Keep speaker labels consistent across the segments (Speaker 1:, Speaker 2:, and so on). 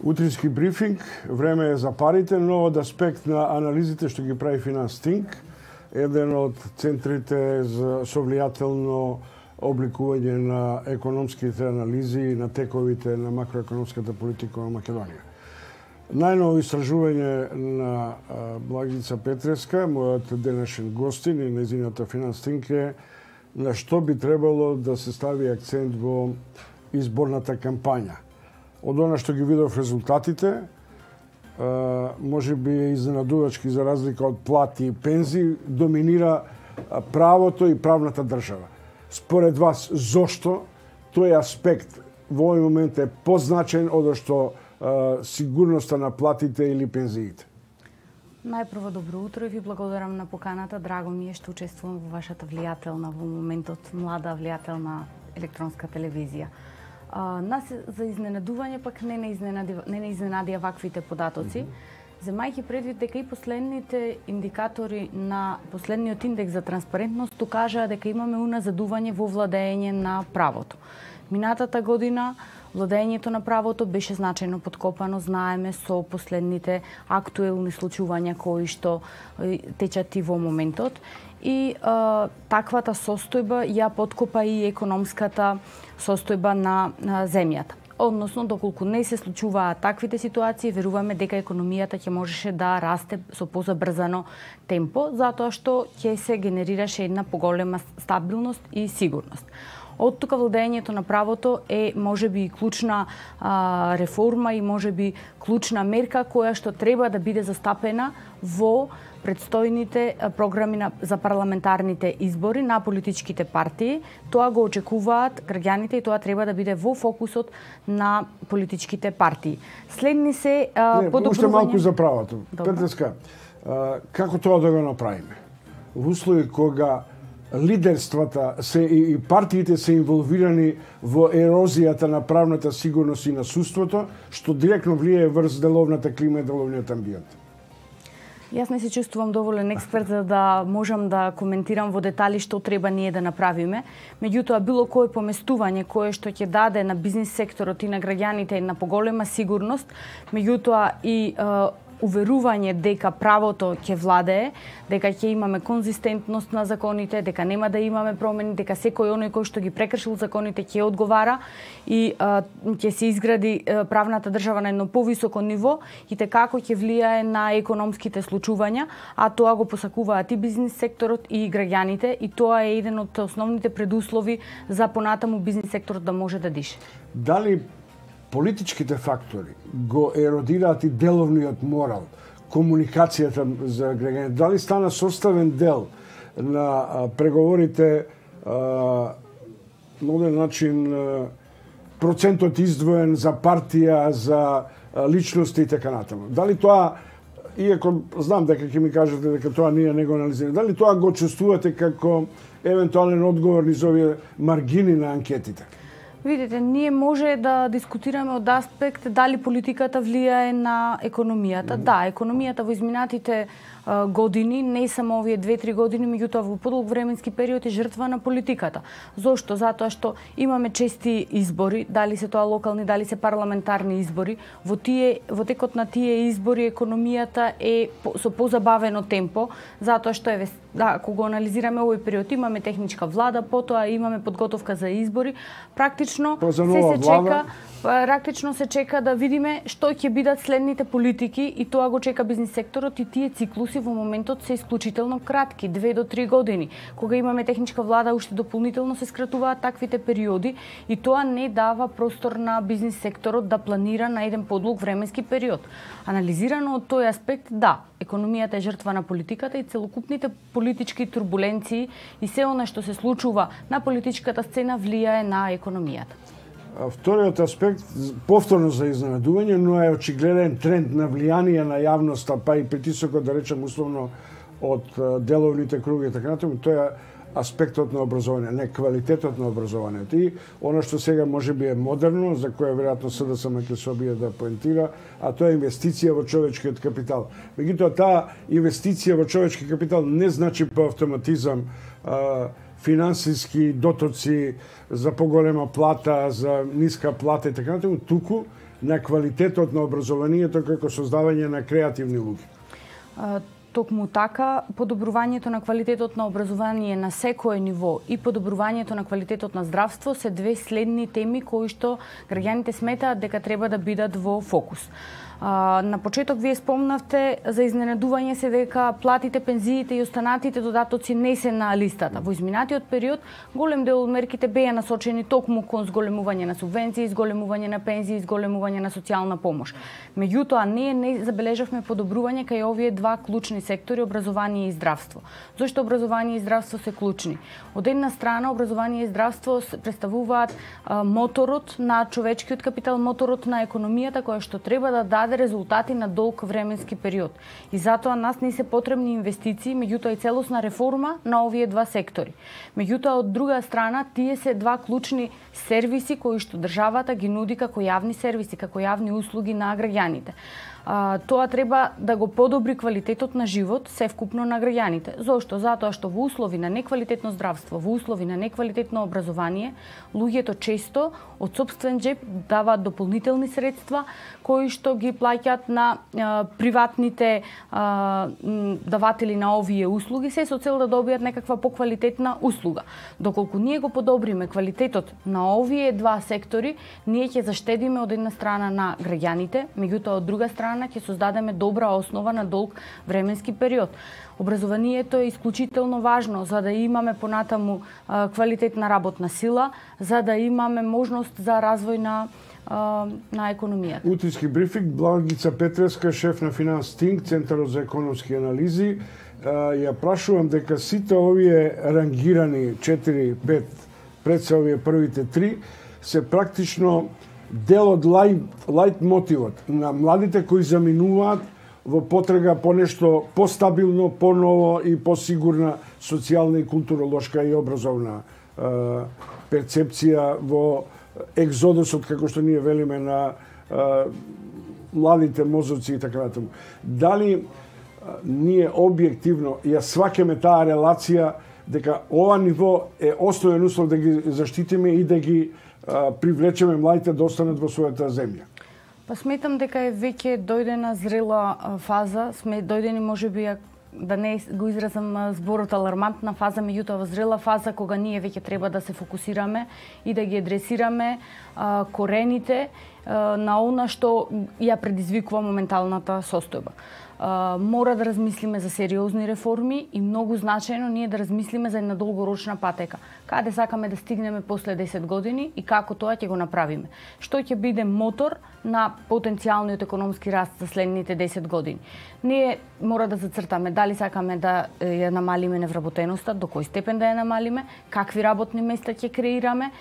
Speaker 1: Утрински брифинг, време е за парите, но од аспект на анализите што ги прави Финанстинк, еден од центрите за совлијателно обликување на економските анализи и на тековите на макроекономската политика на Македонија. Најново истражување на Благица Петреска, мојот денешен гостин и нејзината Финанстинк е на што би требало да се стави акцент во изборната кампања. Од она што ги видов резултатите, може би е изненадувачки за разлика од плати и пензии, доминира правото и правната држава. Според вас, зошто тој аспект во овој момент е позначен од што сигурноста на платите или пензиите?
Speaker 2: Најпрво добро утро и ви благодарам на поканата. Драго ми е што учествувам во вашата влијателна во моментот млада влијателна електронска телевизија. Нас за изненадување пак не изненадија ваквите податоци, земајќи предвид дека и последните индикатори на последниот индекс за транспарентност кажаа дека имаме уназадување во владење на правото. Минатата година владењето на правото беше значајно подкопано, знаеме со последните актуелни случувања кои што течат и во моментот. И таквата состојба ја подкопа и економската состојба на земјата. Односно, доколку не се случуваат таквите ситуации, веруваме дека економијата ќе можеше да расте со позабрзано темпо, затоа што ќе се генерираше една поголема стабилност и сигурност. Од тука владењето на правото е можеби клучна реформа и можеби клучна мерка која што треба да биде застапена во предстојните програми за парламентарните избори на политичките партии. Тоа го очекуваат граѓаните и тоа треба да биде во фокусот на политичките партии. Следни се подобрување...
Speaker 1: Уште малку за правото. Петреска, како тоа да го направиме? Во услови кога лидерствата и партиите се инволвирани во ерозијата на правната сигурност и на судството, што директно влијае врз деловната клима и деловниот амбиент.
Speaker 2: Јас не се чувствувам доволен експерт за да можам да коментирам во детали што треба ние да направиме. Меѓутоа, било кое поместување кое што ќе даде на бизнис секторот и на граѓаните на поголема сигурност, меѓутоа и уверување дека правото ќе владее, дека ќе имаме конзистентност на законите, дека нема да имаме промени, дека секој оној кој што ги прекршил законите ќе одговара и ќе се изгради правната држава на едно повисоко ниво и како ќе влијае на економските случувања, а тоа го посакуваат и бизнис секторот и граѓаните и тоа е еден од основните предуслови за понатаму бизнис секторот да може да дише.
Speaker 1: Дали политичките фактори го еродираат и деловниот морал, комуникацијата за граѓаните? Дали стана составен дел на преговорите на оден начин процентот издвоен за партија, за личности и така натаму? Дали тоа, иако знам дека ќе ми кажете дека тоа ние не го анализираме, дали тоа го чувствувате како евентуален одговор низ овие маргини на анкетите?
Speaker 2: Видите, ние може да дискутираме од аспект дали политиката влијае на економијата. Да, економијата во изминатите години, не само овие 2-3 години, меѓутоа во подолг временски период е жртва на политиката. Зошто? Затоа што имаме чести избори, дали се тоа локални, дали се парламентарни избори. Во текот на тие избори економијата е со позабавено темпо, затоа што ако го анализираме овој период, имаме техничка влада, потоа имаме подготовка за избори. Практично се чека да видиме што ќе бидат следните политики и тоа го чека бизнис секторот и тие циклуси во моментот се исклучително кратки, 2 до 3 години. Кога имаме техничка влада, уште дополнително се скратуваат таквите периоди и тоа не дава простор на бизнис секторот да планира на еден подлог временски период. Анализирано од тој аспект, да, економијата е жртва на политиката и целокупните политички турбуленции и се она што се случува на политичката сцена влијае на економијата.
Speaker 1: Вториот аспект, повторно за изненадување, но е очигледен тренд на влијание на јавноста, па и притисокот, да речем, условно од деловните круги и така натаму, тоа е аспектот на образование, не квалитетот на образованието. И она што сега може би е модерно, за кое веројатно СДСМ ќе се обие да поентира, а тоа е инвестиција во човечкиот капитал. Меѓутоа, таа инвестиција во човечки капитал не значи по автоматизам финансиски дотоци за поголема плата, за ниска плата и така натаму, туку на квалитетот на образованието како создавање на креативни луѓе?
Speaker 2: Токму така, подобрувањето на квалитетот на образование на секое ниво и подобрувањето на квалитетот на здравство се две следни теми кои што граѓаните сметаат дека треба да бидат во фокус. На почеток вие спомнавте за изненадување се дека платите, пензиите и останатите додатоци не се на листата. Во изминатиот период голем дел од мерките беа насочени токму кон зголемување на субвенции, зголемување на пензии, зголемување на социјална помош. Меѓутоа, ние не забележавме подобрување кај овие два клучни сектори, образование и здравство. Зошто образование и здравство се клучни? Од една страна, образование и здравство представуваат моторот на човечкиот капитал, моторот на економијата која што треба да даде резултати на долг временски период. И затоа нас не се потребни инвестиции, меѓутоа и целосна реформа на овие два сектори. Меѓутоа, од друга страна, тие се два клучни сервиси кои што државата ги нуди како јавни сервиси, како јавни услуги на граѓаните. Тоа треба да го подобри квалитетот на живот севкупно на граѓаните. Зошто? Затоа што во услови на неквалитетно здравство, во услови на неквалитетно образование, луѓето често од сопствен џеб даваат дополнителни средства кои што ги плаќаат на приватните даватели на овие услуги, се со цел да добијат некаква поквалитетна услуга. Доколку ние го подобриме квалитетот на овие два сектори, ние ќе заштедиме од една страна на граѓаните, меѓутоа од друга страна ќе создадеме добра основа на долг временски период. Образованието е исклучително важно за да имаме понатаму квалитетна работна сила, за да имаме можност за развој на економијата.
Speaker 1: Утрински брифинг, Благица Петреска, шеф на Финанс Тинк, Центарот за економски анализи. Ја прашувам дека сите овие рангирани 4-5, пред се овие првите 3, се практично дел од лајт мотивот на младите кои заминуваат во потрага по нешто постабилно, поново и посигурна социјална и културолошка и образовна перцепција во екзодусот, како што ние велиме, на младите мозоци и така натаму. Дали ние објективно ја сваќаме таа релација дека ова ниво е основен услов да ги заштитиме и да ги привлечеме младите да останат во својата земја?
Speaker 2: Па сметам дека е веќе дојдена зрела фаза, сме дојдени можеби да не го изразам зборот алармантна фаза, меѓутоа во зрела фаза кога ние веќе треба да се фокусираме и да ги адресираме корените на она што ја предизвикува моменталната состојба. Мора да размислиме за сериозни реформи и многу значајно ние да размислиме за една долгорочна патека. Каде сакаме да стигнеме после 10 години и како тоа ќе го направиме. Што ќе биде мотор на потенцијалниот економски раст за следните 10 години. Ние мора да зацртаме дали сакаме да ја намалиме невработеноста, до кој степен да ја намалиме, какви работни места ќе креираме,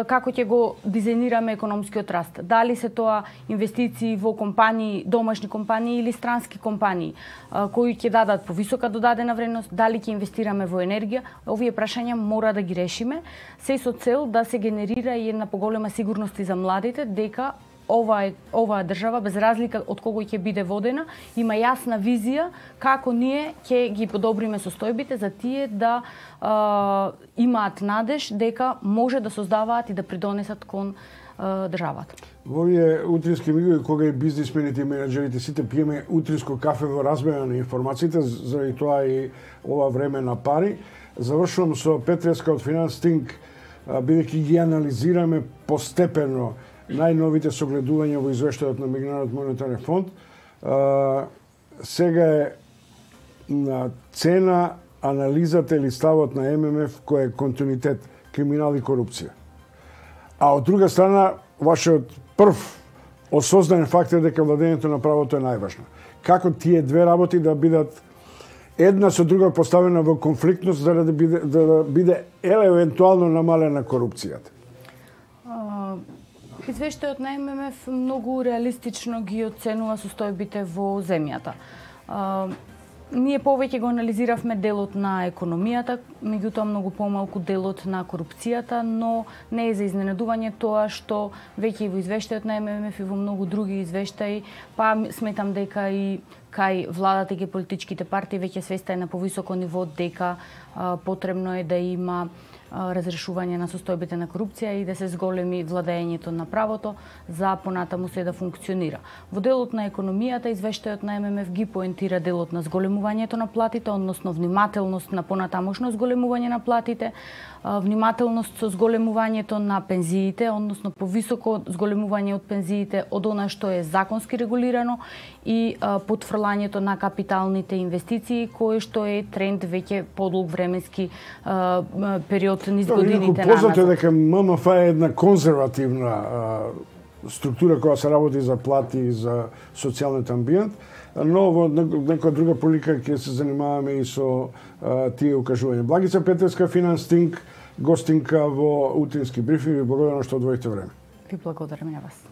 Speaker 2: како ќе го дизајнираме економскиот раст. Дали се тоа инвестиции во компании, домашни компании или странски компании, кои ќе дадат повисока додадена вредност, дали ќе инвестираме во енергија, овие прашања мора да ги решиме, се со цел да се генерира и една поголема сигурност и за младите, дека оваа држава, без разлика од кого ќе биде водена, има јасна визија како ние ќе ги подобриме состојбите за тие да имаат надеж дека може да создаваат и да придонесат кон државата.
Speaker 1: Во овие утрински мигови, кога и бизнисмените и менеджерите сите пиеме утринско кафе во размена на информациите, заради тоа и ова време на пари, завршувам со Петреска од Финанс Тинк, бидејќи ги анализираме постепено најновите согледувања во извештајот на Меѓународниот монетарен фонд. Сега е на цена анализата или ставот на ММФ кој е континуитет, криминал и корупција. А од друга страна, вашиот прв осознан факт е дека владењето на правото е најважно. Како тие две работи да бидат една со друга поставена во конфликтност за да биде евентуално намалена корупцијата?
Speaker 2: Извештајот на ММФ многу реалистично ги оценува состојбите во земјата. Ние повеќе го анализиравме делот на економијата, меѓутоа многу помалку делот на корупцијата, но не е за изненадување тоа што веќе и во извештајот на ММФ и во многу други извештаи, па сметам дека и кај владата и политичките партии веќе свеста е на повисоко ниво дека потребно е да има разрешување на состојбите на корупција и да се зголеми владењето на правото за понатаму се да функционира. Во делот на економијата, извештајот на ММФ ги поентира делот на зголемувањето на платите, односно внимателност на понатамошно зголемување на платите, внимателност со зголемувањето на пензиите, односно повисоко зголемување од пензиите од она што е законски регулирано и потфрлањето на капиталните инвестиции, кое што е тренд веќе подолг временски период низ годините на
Speaker 1: Познато е дека ММФ е една конзервативна структура која се работи за плати и за социјалниот амбиент, но во некоја друга прилика ќе се занимаваме и со тие укажувања. Благица Петерска, Финанс Тинк, гостинка во утрински брифинг. Ви благодарам што одвоите време.
Speaker 2: Ви благодарам на вас.